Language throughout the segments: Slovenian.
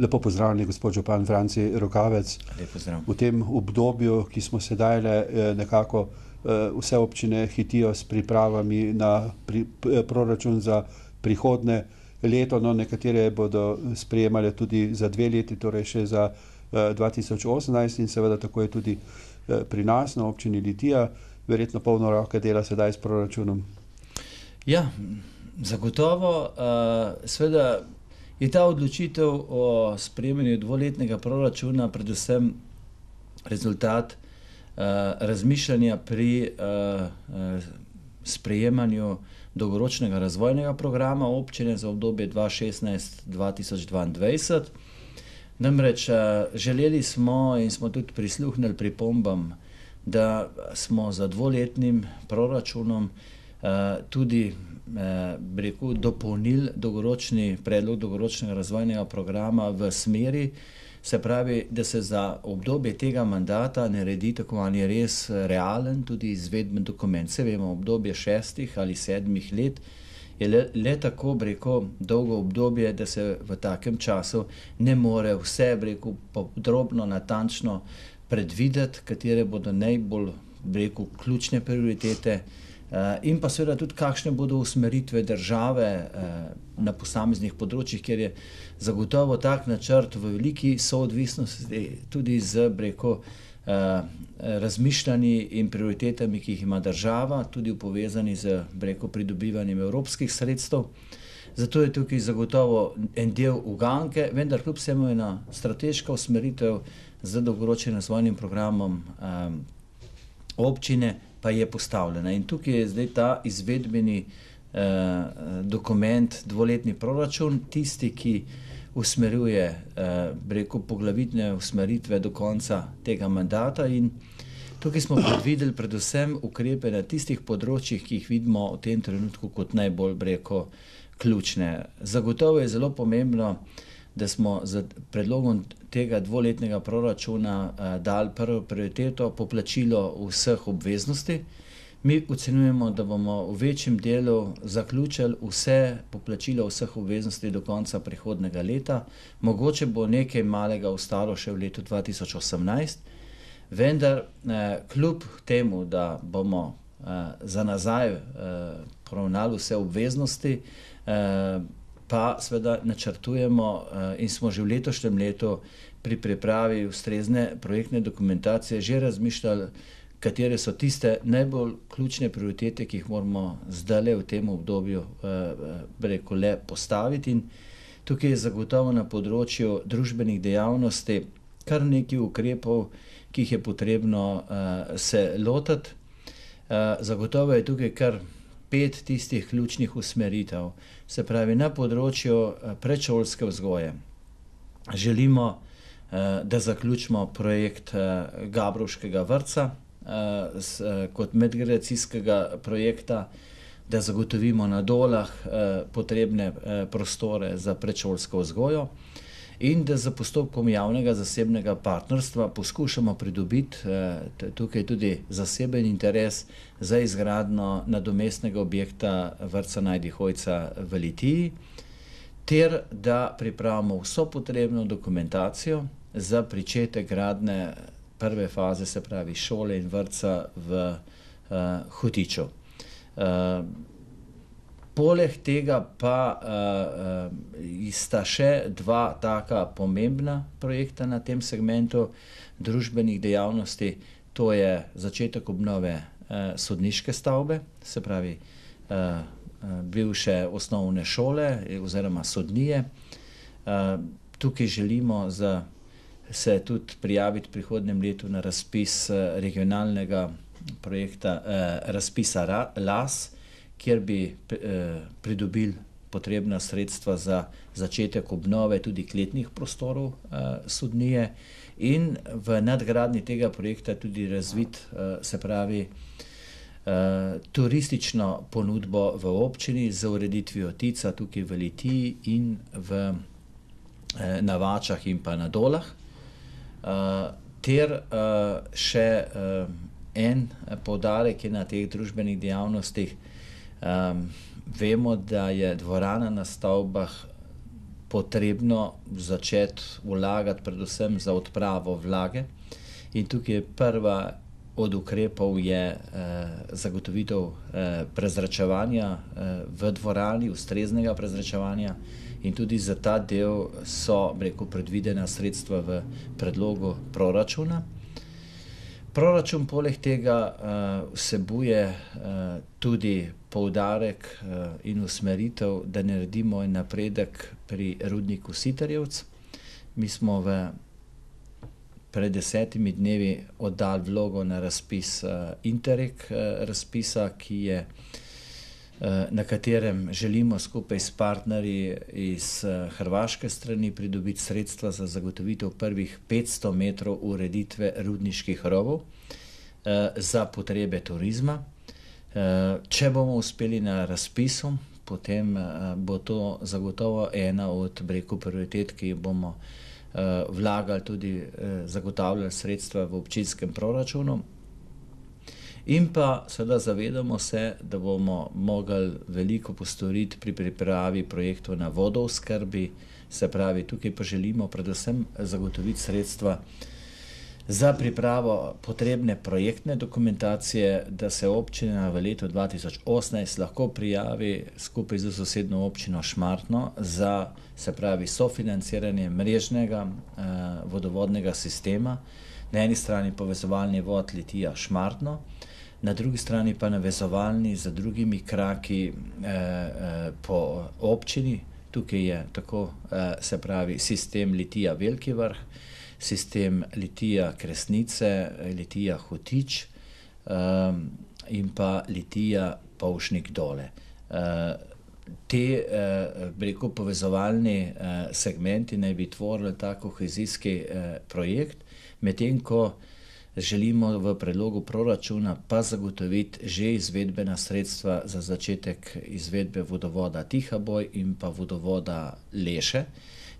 Lepo pozdravljeni, gospod župan Franci Rokavec. Lep pozdrav. V tem obdobju, ki smo sedaj nekako vse občine hitijo s pripravami na proračun za prihodnje leto, no, nekatere bodo sprejemale tudi za 2 leti, torej še za 2018 in seveda tako je tudi pri nas na občini Litija, verjetno polno roke dela sedaj s proračunom. Ja, zagotovo, seveda je ta odločitev o sprejemanju 2-letnega proračuna predvsem rezultat razmišljanja pri sprejemanju dolgoročnega razvojnega programa občine za obdobje 2016-2022. Namreč želeli smo in smo tudi prisluhnili pripombam, da smo za 2-letnim proračunom tudi dopolnili predlog dolgoročnega razvojnega programa v smeri, se pravi, da se za obdobje tega mandata naredi tako ali res realen, tudi izvedben dokument. Se vemo, obdobje 6 ali 7 let je le tako, dolgo obdobje, da se v takem času ne more vse, podrobno, natančno predvideti, katere bodo najbolj, ključne prioritete in pa seveda tudi kakšne bodo usmeritve države na posameznih področjih, kjer je zagotovo tak načrt v veliki soodvisnosti tudi z, razmišljanji in prioritetami, ki jih ima država, tudi povezani z, pridobivanjem evropskih sredstev. Zato je tukaj zagotovo en del uganke, vendar kljub vsemu ena strateška usmeritev z dolgoročnim razvojnim programom občine pa je postavljena. In tukaj je zdaj ta izvedbeni dokument, 2-letni proračun, tisti, ki usmerjuje, poglavitne usmeritve do konca tega mandata in tukaj smo predvideli predvsem ukrepe na tistih področjih, ki jih vidimo v tem trenutku kot najbolj, ključne. Zagotovo je zelo pomembno, da smo z predlogom tega 2-letnega proračuna dali prvo prioriteto poplačilo vseh obveznosti. Mi ocenjujemo, da bomo v večjem delu zaključili vse poplačilo vseh obveznosti do konca prihodnjega leta. Mogoče bo nekaj malega ostalo še v letu 2018, vendar kljub temu, da bomo za nazaj poravnali vse obveznosti, pa seveda načrtujemo in smo že v letošnjem letu pri pripravi ustrezne projektne dokumentacije že razmišljali, katere so tiste najbolj ključne prioritete, ki jih moramo zdajle v tem obdobju le postaviti. In tukaj je zagotovo na področju družbenih dejavnosti kar nekaj ukrepov, ki jih je potrebno se lotiti. Zagotovo je tukaj kar 5 tistih ključnih usmeritev. Se pravi, na področju predšolske vzgoje želimo, da zaključimo projekt Gabrovškega vrtca kot medgeneracijskega projekta, da zagotovimo na Dolah potrebne prostore za predšolsko vzgojo in da za postopkom javnega zasebnega partnerstva poskušamo pridobiti tukaj tudi zaseben interes za izgradnjo nadomestnega objekta vrtca Najdi Hojca v Litiji, ter da pripravimo vso potrebno dokumentacijo za pričetek gradnje prve faze, se pravi šole in vrtca v Hotiču. Poleg tega pa sta še 2 taka pomembna projekta na tem segmentu družbenih dejavnosti, to je začetek obnove sodniške stavbe, se pravi bivše osnovne šole oziroma sodnije. Tukaj želimo se tudi prijaviti v prihodnjem letu na razpis regionalnega projekta, razpisa LAS, kjer bi pridobili potrebna sredstva za začetek obnove tudi kletnih prostorov sodnije in v nadgradnji tega projekta tudi razviti, se pravi, turistično ponudbo v občini z ureditvijo Tica tukaj v Litiji in na Vačah in pa na Dolah. Ter še en poudarek je na teh družbenih dejavnostih. Vemo, da je dvorana na stavbah potrebno začeti vlagati predvsem za odpravo vlage. In tukaj je prva od ukrepov zagotovitev prezračevanja v dvorani, ustreznega prezračevanja, in tudi za ta del so, predvidena sredstva v predlogu proračuna. Proračun poleg tega vsebuje tudi poudarek in usmeritev, da naredimo napredek pri rudniku Sitarjevec. Mi smo pred 10 dnevi oddali vlogo na razpis Interreg razpisa, na katerem želimo skupaj s partnerji iz hrvaške strani pridobiti sredstva za zagotovitev prvih 500 metrov ureditve rudniških rovov za potrebe turizma. Če bomo uspeli na razpisu, potem bo to zagotovo ena od prioritet, ki bomo vlagali tudi zagotavljali sredstva v občinskem proračunu. In pa seveda zavedamo se, da bomo mogli veliko postoriti pri pripravi projektov na vodooskrbi, se pravi, tukaj pa želimo predvsem zagotoviti sredstva za pripravo potrebne projektne dokumentacije, da se občina v letu 2018 lahko prijavi skupaj z sosednjo občino Šmartno za, se pravi, sofinanciranje mrežnega vodovodnega sistema, na eni strani povezovalni vod Litija Šmartno, na drugi strani pa navezovalni z drugimi kraki po občini. Tukaj je tako, se pravi, sistem Litija Veliki Vrh, sistem Litija Kresnice, Litija Hotič in pa Litija Povšnik Dole. Te, povezovalni segmenti naj bi tvorili ta kohezijski projekt, medtem ko želimo v predlogu proračuna pa zagotoviti že izvedbena sredstva za začetek izvedbe vodovoda Tihaboj in pa vodovoda Leše,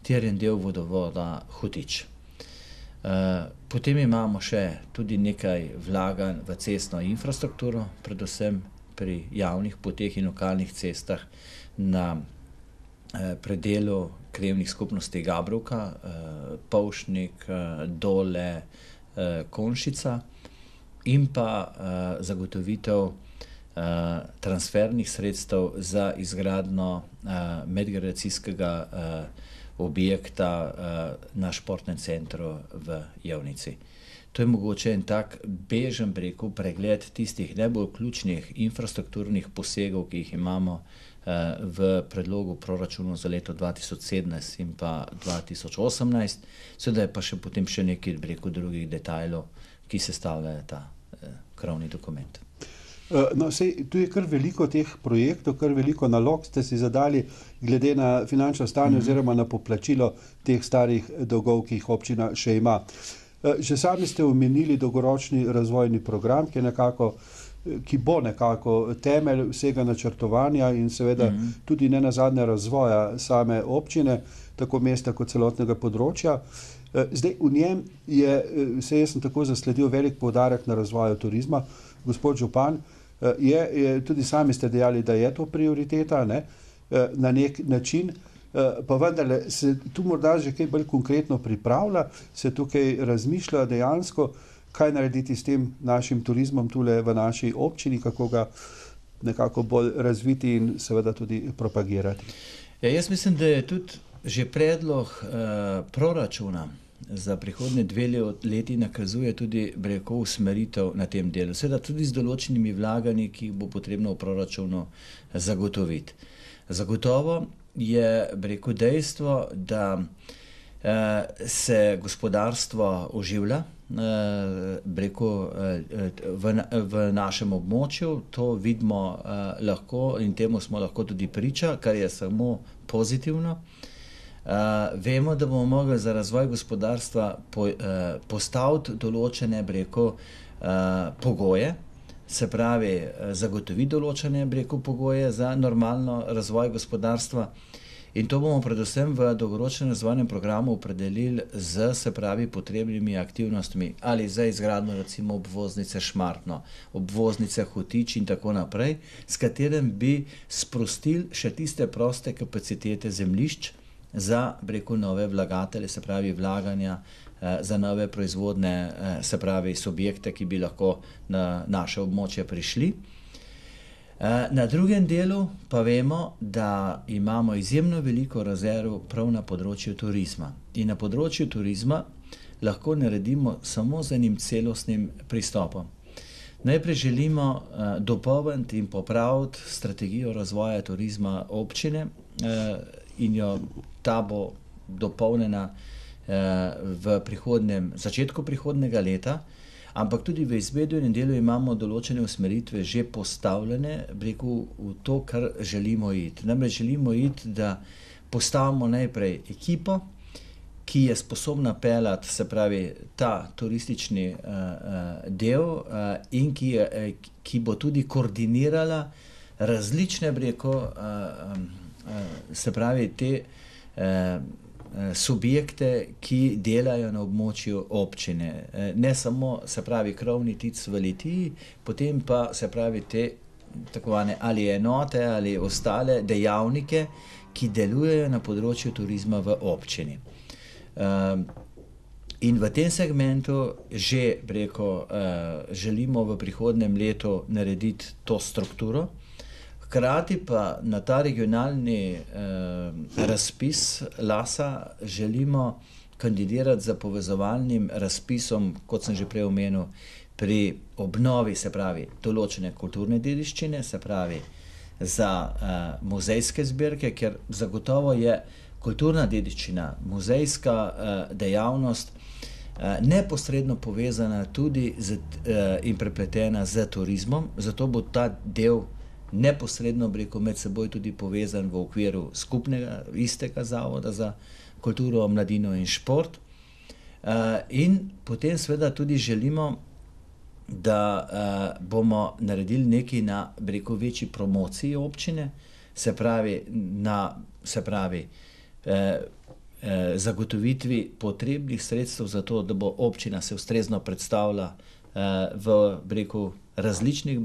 ter en del vodovoda Hotič. Potem imamo še tudi nekaj vlaganj v cestno infrastrukturo, predvsem pri javnih poteh in lokalnih cestah na predelu krajevnih skupnosti Gabrovka, Povšnik, Dole, Konšica, in pa zagotovitev transfernih sredstev za izgradnjo medgeneracijskega objekta na športnem centru v Javnici. To je mogoče en tak bežen pregled tistih najbolj ključnih infrastrukturnih posegov, ki jih imamo v predlogu proračuna za leto 2017 in pa 2018, seveda je pa še potem še nekaj drugih detajlov, ki sestavljajo ta krovni dokument. No, tu je kar veliko teh projektov, kar veliko nalog ste si zadali glede na finančno stanje oziroma na poplačilo teh starih dolgov, ki jih občina še ima. Že sami ste omenili dolgoročni razvojni program, ki bo nekako temelj vsega načrtovanja in seveda tudi nenazadnje razvoja same občine, tako mesta kot celotnega področja. Zdaj v njem jaz sem tako zasledil velik poudarek na razvoju turizma. Gospod župan, tudi sami ste dejali, da je to prioriteta, ne, na nek način, pa vendarle se tu morda že kaj bolj konkretno pripravlja, se tukaj razmišlja dejansko, kaj narediti s tem našim turizmom tule v naši občini, kako ga nekako bolj razviti in seveda tudi propagirati. Ja, jaz mislim, da je tudi že predlog proračuna za prihodnje 2 leti nakazuje tudi usmeritev na tem delu. Seveda tudi z določenimi vlaganji, ki jih bo potrebno v proračunu zagotoviti. Zagotovo je dejstvo, da se gospodarstvo oživlja v našem območju. To vidimo lahko in temu smo lahko tudi priča, kar je samo pozitivno. Vemo, da bomo mogli za razvoj gospodarstva postaviti določene pogoje, se pravi zagotoviti določene pogoje za normalno razvoj gospodarstva, in to bomo predvsem v dolgoročnem razvojnem programu opredelili z, se pravi, potrebnimi aktivnostmi ali za izgradnjo recimo obvoznice Šmartno, obvoznice Hotič in tako naprej, s katerim bi sprostili še tiste proste kapacitete zemljišč za nove vlagatelje, se pravi vlaganja, za nove proizvodne, se pravi subjekte, ki bi lahko na naše območje prišli. Na drugem delu pa vemo, da imamo izjemno veliko rezerv prav na področju turizma. In na področju turizma lahko naredimo samo z enim celostnim pristopom. Najprej želimo dopolniti in popraviti strategijo razvoja turizma občine in ta bo dopolnjena v začetku prihodnjega leta, ampak tudi v izvedbenem delu imamo določene usmeritve že postavljene, v to, kar želimo iti. Namreč želimo iti, da postavimo najprej ekipo, ki je sposobna peljati, se pravi, ta turistični del in ki bo tudi koordinirala različne, se pravi, te subjekte, ki delajo na območju občine. Ne samo, se pravi, krovni tic v Litiji, potem pa, se pravi, te takovane ali enote ali ostale dejavnike, ki delujejo na področju turizma v občini. In v tem segmentu že, želimo v prihodnjem letu narediti to strukturo, hkrati pa na ta regionalni razpis LAS-a želimo kandidirati za povezovalnim razpisom, kot sem že prej omenil, pri obnovi, se pravi, določene kulturne dediščine, se pravi, za muzejske zbirke, ker zagotovo je kulturna dediščina, muzejska dejavnost neposredno povezana tudi in prepletena z turizmom, zato bo ta del neposredno med seboj tudi povezan v okviru skupnega, istega Zavoda za kulturo, mladino in šport. In potem seveda tudi želimo, da bomo naredili nekaj na večji promociji občine, se pravi, zagotovitvi potrebnih sredstev za to, da bo občina se ustrezno predstavila v različnih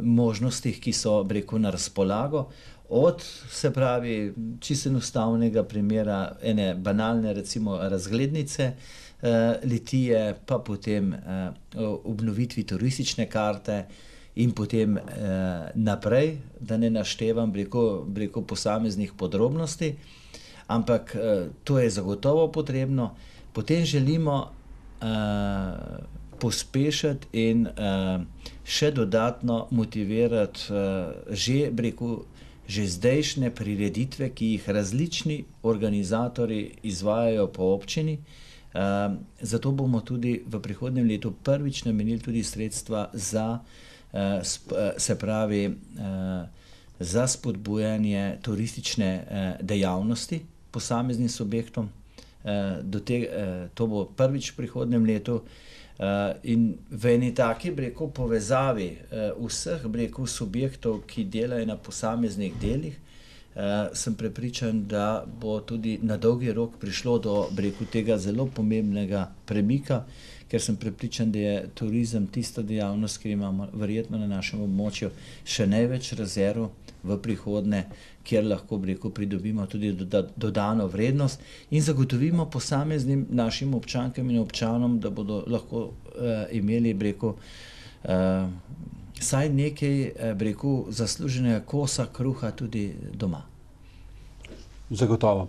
možnostih, ki so na razpolago, od, se pravi, čisto enostavnega primera ene banalne, recimo, razglednice Litije, pa potem obnovitvi turistične karte in potem naprej, da ne naštevam posameznih podrobnosti, ampak to je zagotovo potrebno. Potem želimo pospešiti in še dodatno motivirati že zdajšnje prireditve, ki jih različni organizatorji izvajajo po občini. Zato bomo tudi v prihodnjem letu prvič namenili tudi sredstva za, se pravi, za spodbujanje turistične dejavnosti posameznim subjektom. To bo prvič v prihodnjem letu. In v eni taki, povezavi vseh, subjektov, ki delajo na posameznih delih, sem prepričan, da bo tudi na dolgi rok prišlo do, tega zelo pomembnega premika, ker sem prepričan, da je turizem tista dejavnost, ki imamo verjetno na našem območju še največ rezerv v prihodnje, kjer lahko, pridobimo tudi dodano vrednost in zagotovimo posameznim našim občankam in občanom, da bodo lahko imeli, saj nekaj, zasluženega kosa kruha tudi doma. Zagotovo.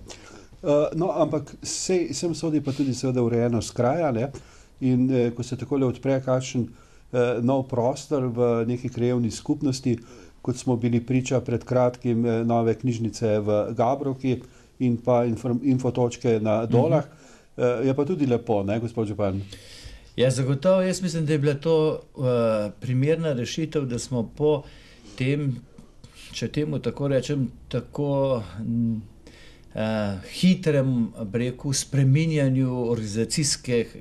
No, ampak sem sodi pa tudi seveda urejenost kraja, ne? In ko se takole odpre kakšen nov prostor v neki krajevni skupnosti, kot smo bili priča pred kratkim nove knjižnice v Gabrovki in pa infotočke na Dolah, je pa tudi lepo, ne, gospod župan? Ja, zagotovo, jaz mislim, da je bila to primerna rešitev, da smo po tem, če temu tako rečem, tako hitrem, spreminjanju organizacijskih,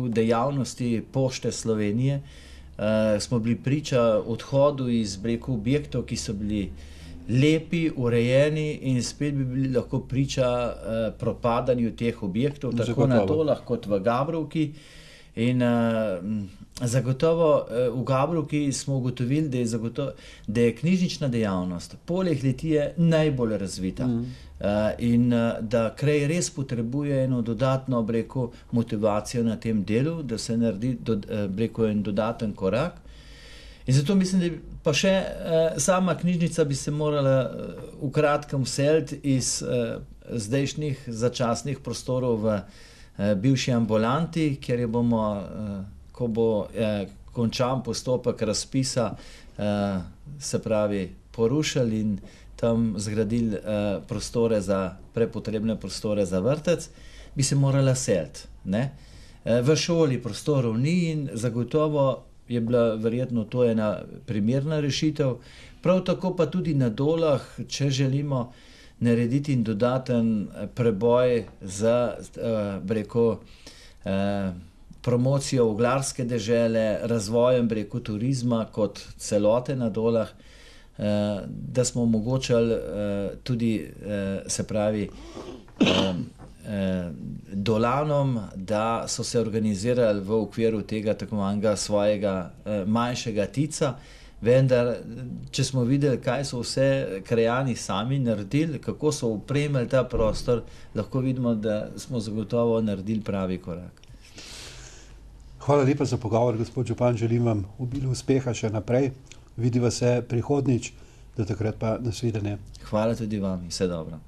dejavnosti Pošte Slovenije, smo bili priča odhodu iz, objektov, ki so bili lepi, urejeni in spet bi bili lahko priča propadanju teh objektov, tako na Dolah kot v Gabrovki. In zagotovo v Gabrovki smo ugotovili, da je knjižnična dejavnost poleg Litije najbolj razvita. In da kraj res potrebuje eno dodatno, bi rekel, motivacijo na tem delu, da se naredi, bi rekel, en dodaten korak. In zato mislim, da pa še sama knjižnica bi se morala v kratkem vseliti iz zdajšnjih začasnih prostorov v bivši ambulanti, kjer jo bomo, ko bo končan postopek razpisa, se pravi, porušili in tam zgradili prepotrebne prostore za vrtec, bi se morala seliti, ne. V šoli prostorov ni in zagotovo je bila verjetno to ena primerna rešitev. Prav tako pa tudi na Dolah, če želimo narediti in dodaten preboj za, bi rekel, promocijo oglarske dežele, razvojem, bi rekel, turizma kot celote na Dolah, da smo omogočali tudi, se pravi, Dolanom, da so se organizirali v okviru tega tako imenega svojega manjšega tica, vendar, če smo videli, kaj so vse krajani sami naredili, kako so opremili ta prostor, lahko vidimo, da smo zagotovo naredili pravi korak. Hvala lepa za pogovor, gospod župan, želim vam obilo uspeha še naprej. Vidiva se prihodnjič, do takrat pa nasvidenje. Hvala tudi vam in vse dobro.